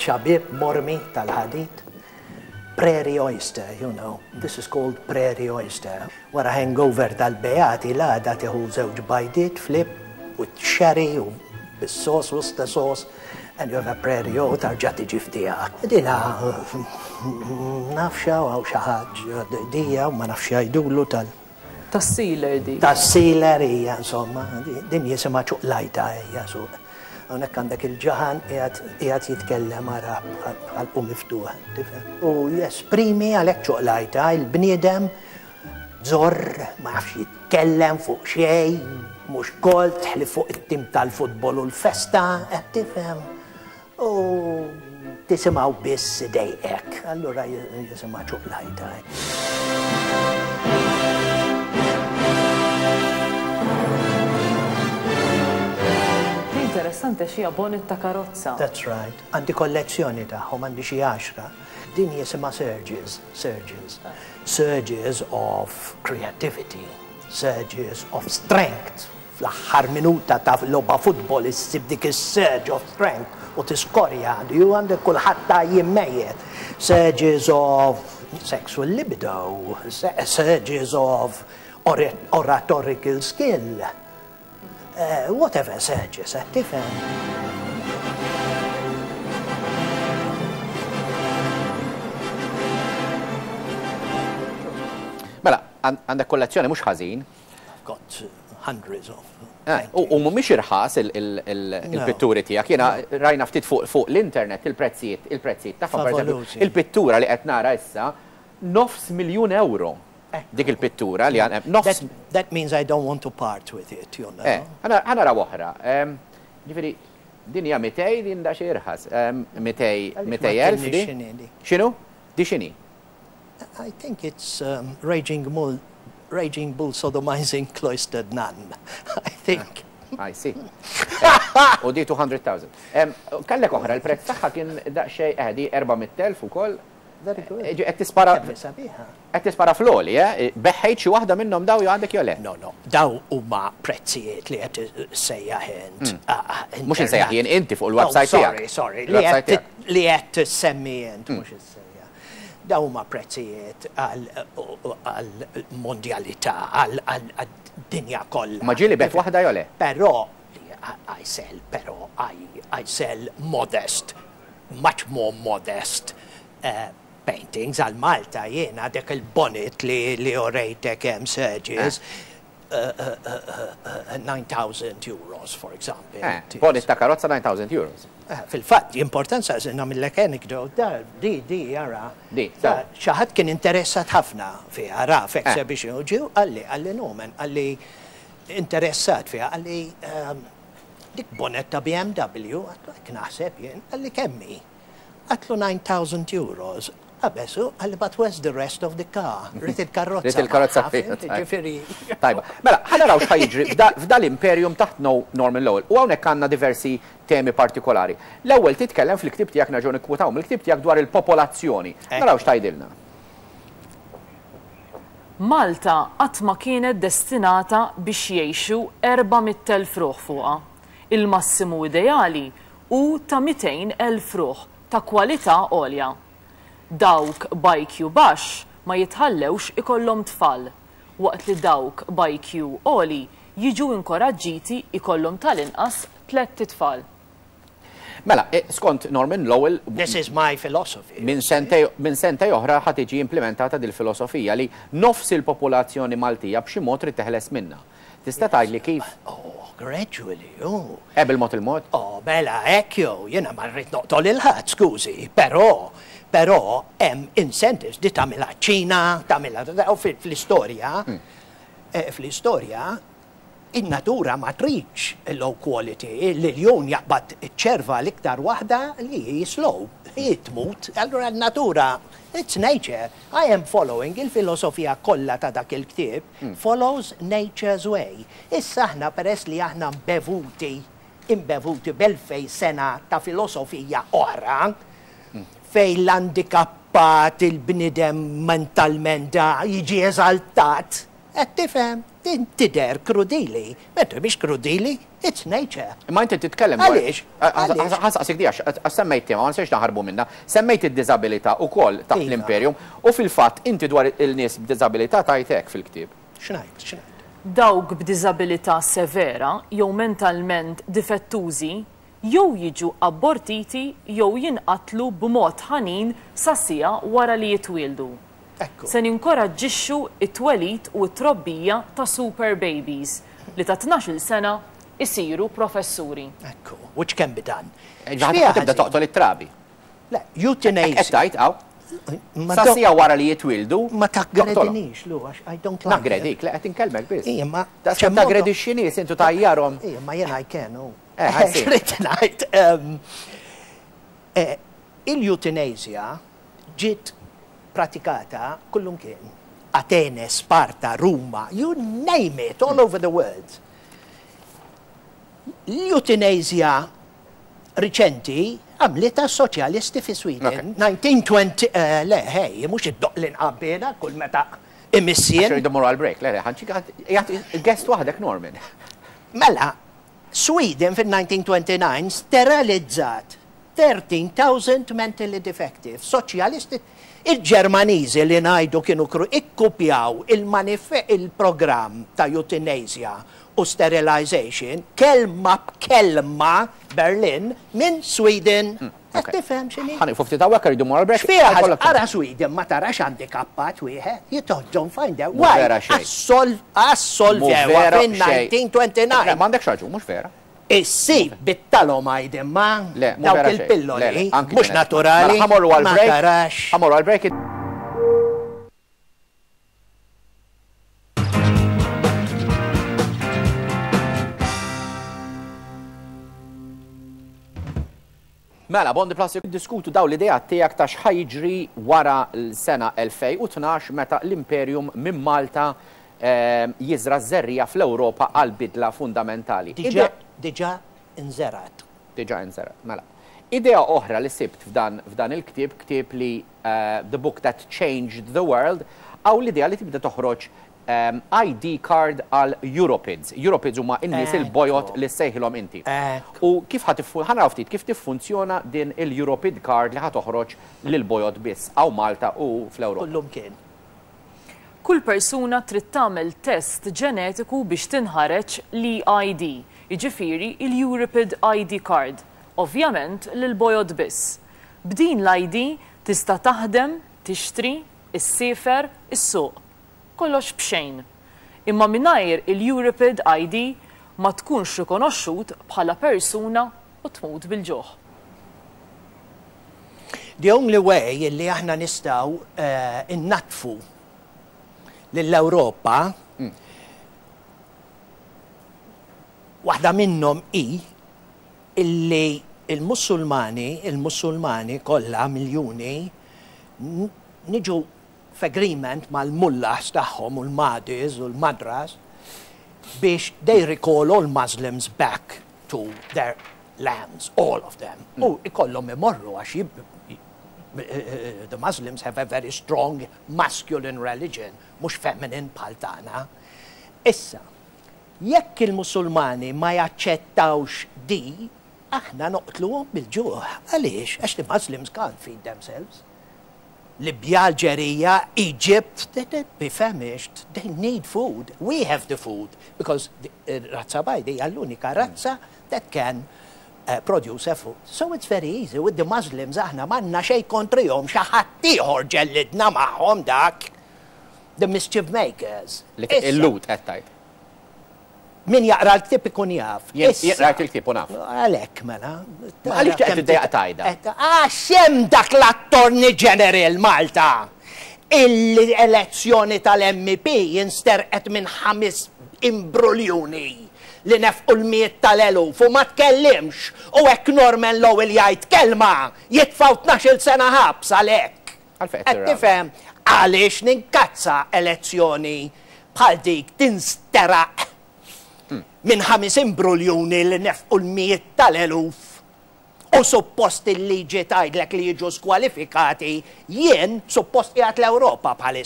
Biċċa bieb mormi tal-ħadid. Prairie oyster, you know. This is called prairie oyster. Wara hangover tal-Beati l-għada tieħu żewġ bajdiet flip with sherry u bis-sauce, Worcester sauce, and you have a prairie u tarġa' tiġi f'tiegħek. Dina nafx hawn xi ħaġa dija u ma nafx jgħidulu tal. Tas-sealer dik. Tas-sealer hija insomma, din jisimha ċuqlajta hija suq. Hawnhekk għandek il-ġaħan qiegħed jitkellem ara ħalqu miftuħ, tifhem? U jesprimi għalhekk ċuqlajta il-bniedem żorr ma jafx jitkellem fuq xejn, mhux kolt ħlief fuq it-tim tal-futbol u l-festa, qed tifhem? U tisimgħu biss idejqek, allura jisimha ċuqlajta. Interessanti għax hija bonnet ta' karozza. That's right. Għandi kollezzjoni tagħhom, għandi xi għaxra. Din jisimha surges, surges. Surges of creativity, surges of strength. Fl-aħħar minuta ta' logħba futbol issib dik is-surge of strength u tiskorja, you għandek kulħadd għajjien mejjet. Surges of sexual libido, surges of oratorical skill, whatever surges, qed tifhem? Mela, għandek kollezzjoni mhux ħażin. I've got hundreds of eh, U mhumiex irħas il-pitturi tiegħek. Jiena rajna ftit fuq l-internet il-prezzijiet, il-prezzijiet tagħhom. Il-pittura li qed nara issa nofs miljun euro. Eh. Dik il-pittura li għan nofs. That means I don't want to part with it, you know. Eh, ħa naraw oħra. Ġifieri, din hija 200 din da xi irħas. 200 elf di. X'inhu? Di x'inhi? I think it's um, Raging Bull, Raging Bull Sodomizing Cloistered Nun. I think. I see. U di 200,000. Kellek oħra, il-prezz tagħha kien daqsxejn eh, di 400,000 ukoll. Very good. Eh, qed tispara. Qed tispara fl-għoli, eh? Beħħejt xi waħda minnhom daw jew għandek jew le? No, no. Daw huma prezzijiet li qed sejjaħ int. Hmm. Ah, ah, mhux insejjaħ jien inti fuq il-website oh, tiegħek. Sorry, sorry. Li qed semmi int, hmm. mhux issejjaħ. Dawn huma prezzijiet għall-mondjalità, għad-dinja kollha. Ma ġieli bigħt waħda jew le? Però I sell, però I sell modest, much more modest paintings. Għal Malta jiena dik il-bonnet li urejtek hemm Sergius, 9,000 euros, for example. Eh, bonnet ta' karozza 9,000 euros. Eh, fil-fatt, importanza se nagħmillek anecdote, da, di, di, ara. Di, Xi ħadd kien interessat ħafna fiha, ra, f'exhibition, u ġew qalli, qalli Norman, qalli interessat fiha, qalli ehm, dik bonnet ta' BMW, għedtlu hekk naħseb jien, qalli kemm hi? Għedtlu 9,000 euros. Qabeż hu, qalli but where's the rest of the car? Ried il-karozza. Ried il-karozza Ġifieri. Tajba. Mela, ħa naraw x'ħa jiġri f'dal-imperium taħt Norman Lowell. U hawnhekk għandna diversi temi partikolari. L-ewwel titkellem fil-ktieb tiegħek nerġgħu nikkwutaw mill-ktieb tiegħek dwar il-popolazzjoni. Naraw x'tgħidilna. Malta qatt ma kienet destinata biex jgħixu 400,000 ruħ fuqha. Il-massimu ideali hu ta' 200,000 ruħ ta' kwalità għolja. Dawk b'IQ baxx ma jitħallewx ikollhom tfal, waqt li dawk b'IQ għoli jiġu inkoraġġiti jkollhom tal-inqas tlett itfal. Mela, skont Norman Lowell, This is my philosophy. minn sentej minn sentej oħra ħa tiġi implimentata dil-filosofija li nofs il-popolazzjoni Maltija b'xi mod trid teħles minnha. Tista' tgħidli kif? Oh, gradually, oh. Eh, bil-mod il-mod? Oh, mela, hekk jew, jiena ma rrid noqtol lil ħadd, skużi, però, però hemm incentives di tagħmilha ċ-Ċina, tagħmilha, u fl-istorja, eh, fl-istorja, in-natura ma tridx low quality, l-iljun jaqbad iċ-ċerva l-iktar waħda li hi slow, hi tmut, allura n-natura, it's nature, I am following il-filosofija kollha ta' dak il-ktieb, Follows nature's way. Issa aħna peress li aħna mbevuti, imbevuti b'elfej sena ta' filosofija oħra, fejn l-andikappat, il-bniedem mentalment da jiġi eżaltat, qed tifhem? Din tidher krudili. Mentri mhix krudili. It's nature. Imma inti titkellem dwar. Għaliex? Għaliex? Ħa nsaqsik di għax semmejt tema, ma nistax naħarbu minnha. Semmejt id-diżabilità ukoll taħt Iva. l-Imperium u fil-fatt inti dwar il-nies b'diżabilità tgħid hekk fil-ktieb. X'ngħid? X'ngħid? Dawk b'diżabilità severa jew mentalment difettużi jew jiġu abortiti jew jinqatlu b'mod ħanin sa siegħa wara li jitwieldu. Ekku. Se ninkoraġġixxu t-twelid u t-trobbija ta' super babies li ta' 12-il sena jsiru professuri. Ekku, which can be done. Ħa tibda toqtol it-trabi. Le, euthanasia. Qed tgħid hawn. Sa siegħa wara li jitwieldu. Ma taggredinix, Lu, għax I don't like. Naggredik, le qed inkellmek biss. Ija, ma. Daqs taggredixxi nies intu tgħajjarhom. Ija, ma jien I can, u. Eh, I see. X'ridt ngħid. Il-euthanasia ġiet pratikata kullumkien. Atene, Sparta, Ruma, you name it, all over the world. L-euthanasia riċenti għamlitha s-soċjalisti fi Sweden. 1920, le, hej, mhux iddoqq l-inqabbiela kull meta imiss jien. Għax irridu mmorru għall-break, le, le, ħa guest waħdek Norman. Mela, Sweden fil-1929 sterilizzat 13,000 mentally defective. Soċjalisti, il-Ġermaniżi li ngħidu kienu kru ikkupjaw il-programm ta' euthanasia u sterilization kelma b'kelma Berlin minn Sweden. Qed tifhem x'inhi? Ħa nieqfu ftit hawnhekk irridu mmorru għall-break. X'fiha? Ara Sweden ma tarax handikappat wieħed. You don't find that. Mhux vera xejn. Assolvewha fin-1929. M'għandekx raġun, mhux vera. Issib bit-thalomide imma Le, mhu dawk vera xejn. il-pilloli Le, le, anki mhux ġenetika. naturali Mela ħa mmorru ma għall-break. tarax. Ħa mmorru għall-break. Mela, Bondi Plus diskutu daw l-idea tiegħek ta' x'ħa jiġri wara l-sena 2012 meta l-Imperium minn Malta jiżra' ż-żerriegħa fl-Ewropa għal bidla fundamentali. Diġà diġà inżergħet. Diġà inżergħet, mela. Idea oħra li sibt f'dan f'dan il-ktieb, ktieb li The Book That Changed the World, hawn l-idea li tibda toħroġ ID card għal Europids. Europids huma n-nies il-bojod li ssejħilhom inti. U kif ħa tiffu, ħa naraw ftit kif tiffunzjona din il-Europid card li ħa toħroġ lill-bojod biss hawn Malta u fl-Ewropa. Kullumkien. Kull persuna trid tagħmel test ġenetiku biex tinħareġ l-e-ID, jiġifieri l-Europid ID card, ovvjament lill-bojod biss. B'din l-ID tista' taħdem, tixtri, issiefer, issuq. Kollox b'xejn. Imma mingħajr il-Europid ID ma tkunx rikonoxxut bħala persuna u tmut bil-ġuħ. The only way illi aħna nistgħu innaddfu lill-Ewropa, waħda minnhom hi illi l-Musulmani, il-Musulmani kollha miljuni, niġu f'agreement mal-mullahs tagħhom u l-madis u l-madras biex they recall all Muslims back to their lands, all of them. U ikollhom imorru għax the Muslims have a very strong masculine religion, mhux feminine bħal tagħna. Issa, jekk il-Musulmani ma jaċċettawx di, aħna noqtluhom bil-ġuħ. Għaliex? Għax the Muslims can't feed themselves. Libja, Alġerija, Egypt, they they'd be famished, they need food, we have the food, because razza bajda hija l-unika razza that can produce a food. So it's very easy, with the Muslims aħna m'għandna xejn kontrihom, xi ħadd ieħor ġellidna magħhom dak, the mischief makers. Il-Lhud qed tgħid. Min jaqra l-ktieb ikun jaf. Jien qrajt il-ktieb u naf. Għalhekk mela. Ma għaliex qed tiddejjaq tgħidha? Għax hemm dak l-Attorney General Malta illi elezzjoni tal-MEP insterqet minn ħames imbruljuni li nefqu l-mijiet tal-eluf u ma tkellimx u hekk Norman Lowell jgħid kelma jitfgħu 12-il sena ħabs għalhekk. Għalfejn qed Qed tifhem għaliex ninkazza elezzjoni bħal dik tinsteraq minn ħames imbruljuni li nefqu l-mijiet tal-eluf u suppost il-liġi tgħidlek li jiġu skwalifikati, jien suppost qiegħed l-Ewropa bħalissa.